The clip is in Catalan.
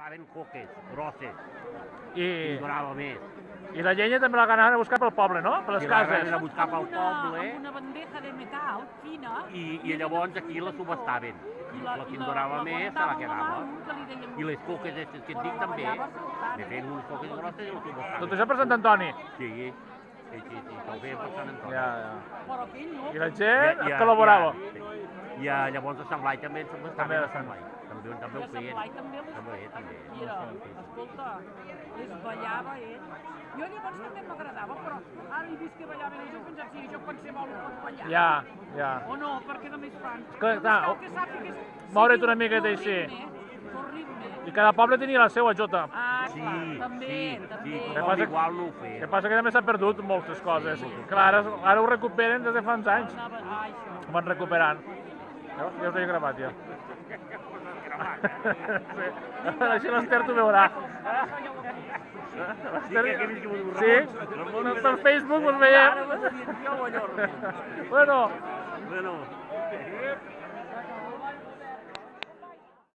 estaven coques, grosses, I durava més. la llenya també la anaven a buscar pel poble, no? Per les I la cases. anaven a buscar pel poble Amb una bandeja de metal fina. i llavors aquí la subestaven. La que en durava més se la quedava. I les coques aquestes que et dic també. Me feien unes coques grosses i les subestaven. Tot això per Sant Antoni. Sí, ho feien per Sant Antoni. I la gent col·laborava. I llavors a Sant Blai també ens subestaven a Sant Blai. També ho feien. També. Mira, escolta, les ballava ell. Jo llavors també m'agradava, però ara he vist que ballaven ells, jo pensava, sí, jo qualsevol ho pot ballar. Ja. O no, perquè només fan. Clar, moure't una miqueta així. I cada poble tenia la seva jota. Sí, també. tothom igual no ho El feia. que passa que també s'han perdut moltes coses. Clar, ara ho recuperen des de fa uns anys. Ho van recuperant. Ja us he gravat, ja. Així l'Ester t'ho veurà. Sí, per Facebook us veiem. Bueno.